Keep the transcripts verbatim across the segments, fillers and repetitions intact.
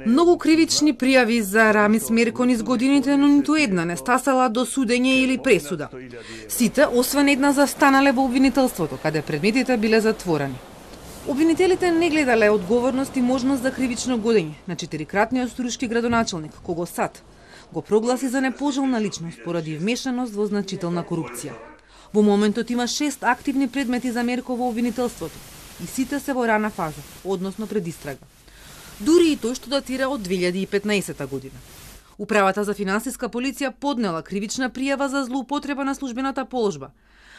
Многу кривични пријави за Рамис Мерко низ годините, но ниту една не стасала до судење или пресуда. Сите, освен една, застанале во обвинителството, каде предметите биле затворени. Обвинителите не гледале одговорност и можност за кривично годење на четирикратниот струшки градоначалник, кого САД го прогласи за непожелна личност поради вмешаност во значителна корупција. Во моментот има шест активни предмети за Мерко во обвинителството и сите се во рана фаза, односно пред истрага. Дури и тој што датира од две илјади и петнаесета година. Управата за финансиска полиција поднела кривична пријава за злоупотреба на службената положба,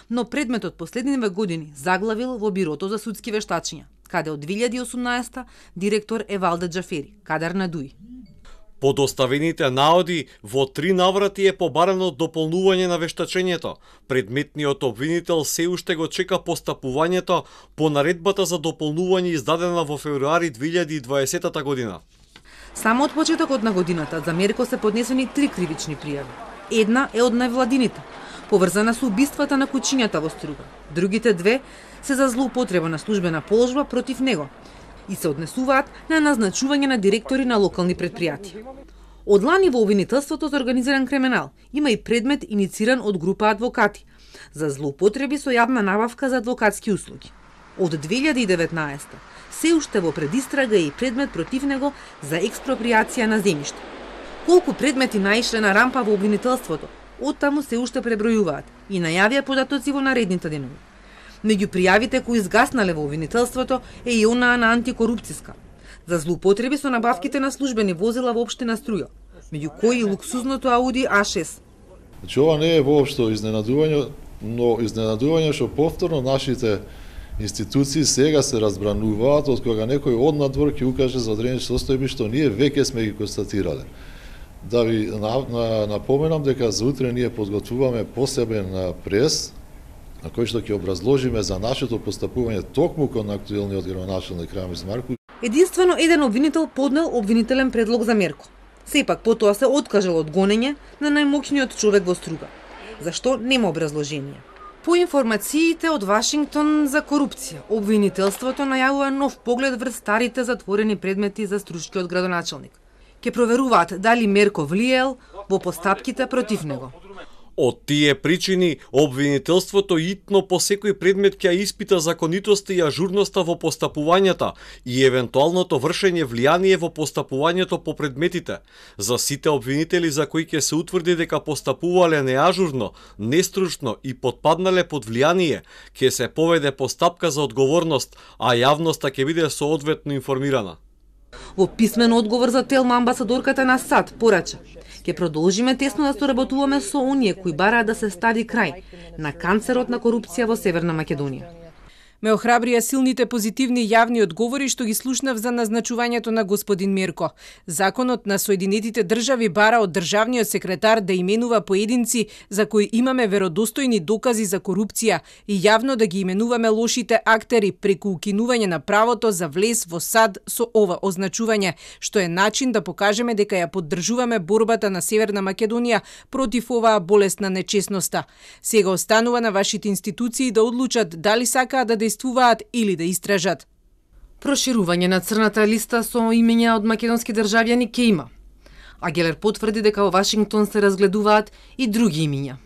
но предметот последниве години заглавил во Бирото за судски вештачиња, каде од две илјади и осумнаесета директор е Валде Џафери, кадар на ДУИ. По доставените наоди, во три наврати е побарано дополнување на вештачењето. Предметниот обвинител се уште го чека постапувањето по наредбата за дополнување издадена во февруари две илјади и дваесета година. Само од почетокот на годината за Мерко се поднесени три кривични пријави. Една е од невладините, поврзана со убиствата на кучињата во Струга. Другите две се за злоупотреба на службена положба против него и се однесуваат на назначување на директори на локални предпријатија. Од лани во обвинителството за организиран криминал има и предмет инициран од група адвокати за злоупотреби со јавна набавка за адвокатски услуги. Од две илјади и деветнаесета се уште во предистрага и предмет против него за експроприација на земјиште. Колку предмети наишле на рампа во обвинителството, оттаму се уште пребројуваат и најавија податоци во наредните денови. Меѓу пријавите кои изгаснале во обвинителството е и онаа на антикорупцијска за злоупотреби со набавките на службени возила во општина Струја, меѓу кои и луксузното Ауди А шест. Значи ова не е воопшто изненадување, но изненадување што повторно нашите институции сега се разбрануваат од кога некој од надвор ќе укаже за одредени состојби што ние веќе сме ги констатирале. Да ви напоменам дека за утре ние подготвуваме посебен прес на кој што ќе образложиме за нашето постапување токму кон актуелниот градоначалник Рамис Мерко. Единствено еден обвинител поднел обвинителен предлог за Мерко. Сепак потоа се откажал од гонење на најмоќниот човек во Струга. Зашто нема образложение. По информациите од Вашингтон за корупција, обвинителството најавува нов поглед врз старите затворени предмети за струшкиот градоначалник. Ке проверуваат дали Мерко влиел во постапките против него. Од тие причини, обвинителството итно по секој предмет ќе испита законитоста и ажурноста во постапувањата и евентуалното вршење влијание во постапувањето по предметите. За сите обвинители за кои ќе се утврди дека постапувале неажурно, нестручно и подпаднале под влијание, ќе се поведе постапка за одговорност, а јавноста ќе биде соодветно информирана. Во писмен одговор за Телма амбасадорката на САД порача: ќе продолжиме тесно да соработуваме со оние кои бараат да се стави крај на канцерот на корупција во Северна Македонија. Ме охрабрија силните позитивни јавни одговори што ги слушнав за назначувањето на господин Мерко. Законот на Соединетите држави бара од државниот секретар да именува поединци за кои имаме веродостојни докази за корупција и јавно да ги именуваме лошите актери преку укинување на правото за влез во САД со ова означување, што е начин да покажеме дека ја поддржуваме борбата на Северна Македонија против оваа болест на нечесноста. Сега останува на вашите институции да одлучат дали сакаат да действуваат или да истражат. Проширување на црната листа со имења од македонски државјани ке има. Агелер потврди дека во Вашингтон се разгледуваат и други имења.